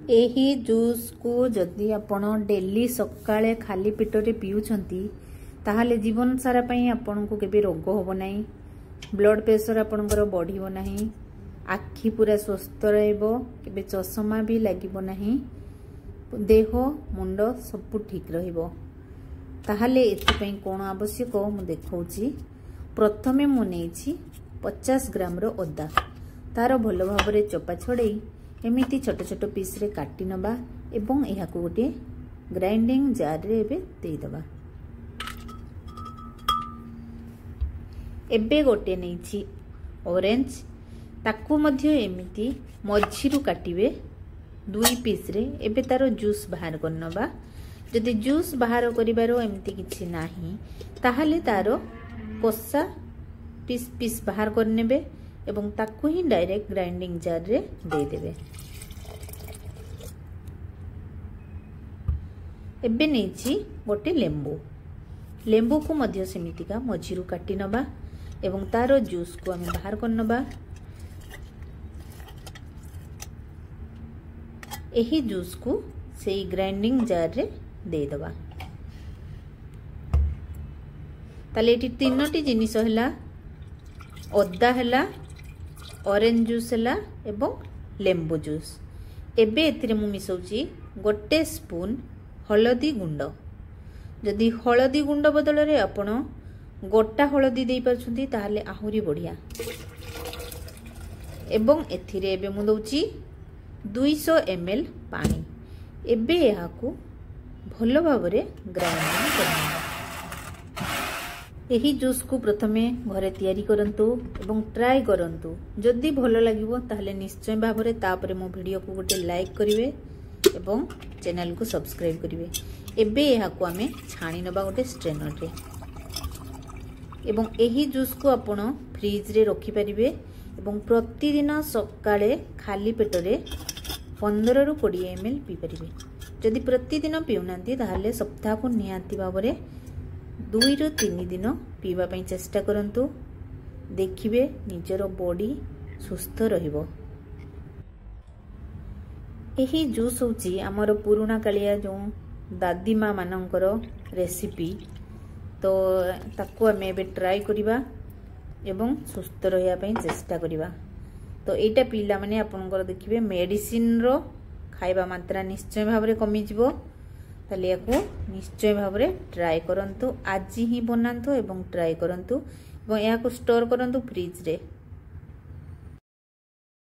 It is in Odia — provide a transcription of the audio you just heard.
ଏହି ଜୁସ୍କୁ ଯଦି ଆପଣ ଡେଲି ସକାଳେ ଖାଲି ପେଟରେ ପିଉଛନ୍ତି, ତାହେଲେ ଜୀବନ ସାରା ପାଇଁ ଆପଣଙ୍କୁ କେବେ ରୋଗ ହେବ ନାହିଁ, ବ୍ଲଡ଼ ପ୍ରେସର ଆପଣଙ୍କର ବଢ଼ିବ ନାହିଁ, ଆଖି ପୁରା ସୁସ୍ଥ ରହିବ, କେବେ ଚଷମା ବି ଲାଗିବ ନାହିଁ, ଦେହ ମୁଣ୍ଡ ସବୁ ଠିକ୍ ରହିବ। ତାହେଲେ ଏଥିପାଇଁ କ'ଣ ଆବଶ୍ୟକ ମୁଁ ଦେଖାଉଛି। ପ୍ରଥମେ ମୁଁ ନେଇଛି 50 ଗ୍ରାମର ଅଦା। ତାର ଭଲ ଭାବରେ ଚୋପା ଛଡ଼େଇ ଏମିତି ଛୋଟ ଛୋଟ ପିସ୍ରେ କାଟି ନେବା ଏବଂ ଏହାକୁ ଗୋଟିଏ ଗ୍ରାଇଣ୍ଡିଂ ଜାର୍ରେ ଏବେ ଦେଇଦେବା। ଏବେ ଗୋଟେ ନେଇଛି ଅରେଞ୍ଜ, ତାକୁ ମଧ୍ୟ ଏମିତି ମଝିରୁ କାଟିବେ 2 ପିସ୍ରେ। ଏବେ ତାର ଜୁସ୍ ବାହାର କରିନେବା। ଯଦି ଜୁସ୍ ବାହାର କରିବାର ଏମିତି କିଛି ନାହିଁ, ତାହେଲେ ତାର କଷା ପିସ୍ ପିସ୍ ବାହାର କରିନେବେ ଏବଂ ତାକୁ ହିଁ ଡାଇରେକ୍ଟ ଗ୍ରାଇଣ୍ଡିଂ ଜାର୍ରେ ଦେଇଦେବେ। ଏବେ ନେଇଛି ଗୋଟେ ଲେମ୍ବୁ। ଲେମ୍ବୁକୁ ମଧ୍ୟ ସେମିତିକା ମଝିରୁ କାଟି ନେବା ଏବଂ ତାର ଜୁସ୍କୁ ଆମେ ବାହାର କରିନେବା। ଏହି ଜୁସ୍କୁ ସେଇ ଗ୍ରାଇଣ୍ଡିଂ ଜାର୍ରେ ଦେଇଦେବା। ତାହେଲେ ଏଠି 3ଟି ଜିନିଷ ହେଲା, ଅଦା ହେଲା, ଅରେଞ୍ଜ ଜୁସ୍ ହେଲା ଏବଂ ଲେମ୍ବୁ ଜୁସ୍। ଏବେ ଏଥିରେ ମୁଁ ମିଶାଉଛି 1 ସ୍ପୁନ୍ ହଳଦୀ ଗୁଣ୍ଡ। ଯଦି ହଳଦୀ ଗୁଣ୍ଡ ବଦଳରେ ଆପଣ ଗୋଟା ହଳଦୀ ଦେଇପାରୁଛନ୍ତି, ତାହେଲେ ଆହୁରି ବଢ଼ିଆ। ଏବଂ ଏଥିରେ ଏବେ ମୁଁ ଦେଉଛି 200 ଏମ୍ ଏଲ୍ ପାଣି। ଏବେ ଏହାକୁ ଭଲ ଭାବରେ ଗ୍ରାଇଣ୍ଡିଂ କରିନେବା। ଏହି ଜୁସ୍କୁ ପ୍ରଥମେ ଘରେ ତିଆରି କରନ୍ତୁ ଏବଂ ଟ୍ରାଏ କରନ୍ତୁ। ଯଦି ଭଲ ଲାଗିବ, ତାହେଲେ ନିଶ୍ଚୟ ଭାବରେ ତାପରେ ମୋ ଭିଡ଼ିଓକୁ ଗୋଟେ ଲାଇକ୍ କରିବେ ଏବଂ ଚ୍ୟାନେଲକୁ ସବସ୍କ୍ରାଇବ୍ କରିବେ। ଏବେ ଏହାକୁ ଆମେ ଛାଣି ନେବା ଗୋଟେ ଷ୍ଟ୍ରେନରରେ ଏବଂ ଏହି ଜୁସ୍କୁ ଆପଣ ଫ୍ରିଜରେ ରଖିପାରିବେ ଏବଂ ପ୍ରତିଦିନ ସକାଳେ ଖାଲି ପେଟରେ 15ରୁ 20 ଏମ୍ ଏଲ୍ ପିଇପାରିବେ। ଯଦି ପ୍ରତିଦିନ ପିଉନାହାନ୍ତି, ତାହେଲେ ସପ୍ତାହକୁ ନିହାତି ଭାବରେ 2ରୁ 3 ଦିନ ପିଇବା ପାଇଁ ଚେଷ୍ଟା କରନ୍ତୁ। ଦେଖିବେ ନିଜର ବଡି ସୁସ୍ଥ ରହିବ। ଏହି ଜୁସ୍ ହେଉଛି ଆମର ପୁରୁଣା କାଳିଆ ଯେଉଁ ଦାଦି ମା ମାନଙ୍କର ରେସିପି, ତ ତାକୁ ଆମେ ଏବେ ଟ୍ରାଏ କରିବା ଏବଂ ସୁସ୍ଥ ରହିବା ପାଇଁ ଚେଷ୍ଟା କରିବା। ତ ଏଇଟା ପିଇଲା ମାନେ ଆପଣଙ୍କର ଦେଖିବେ ମେଡ଼ିସିନର ଖାଇବା ମାତ୍ରା ନିଶ୍ଚୟ ଭାବରେ କମିଯିବ। ତାହେଲେ ୟାକୁ ନିଶ୍ଚୟ ଭାବରେ ଟ୍ରାଏ କରନ୍ତୁ, ଆଜି ହିଁ ବନାନ୍ତୁ ଏବଂ ଟ୍ରାଏ କରନ୍ତୁ ଏବଂ ଏହାକୁ ଷ୍ଟୋର୍ କରନ୍ତୁ ଫ୍ରିଜରେ।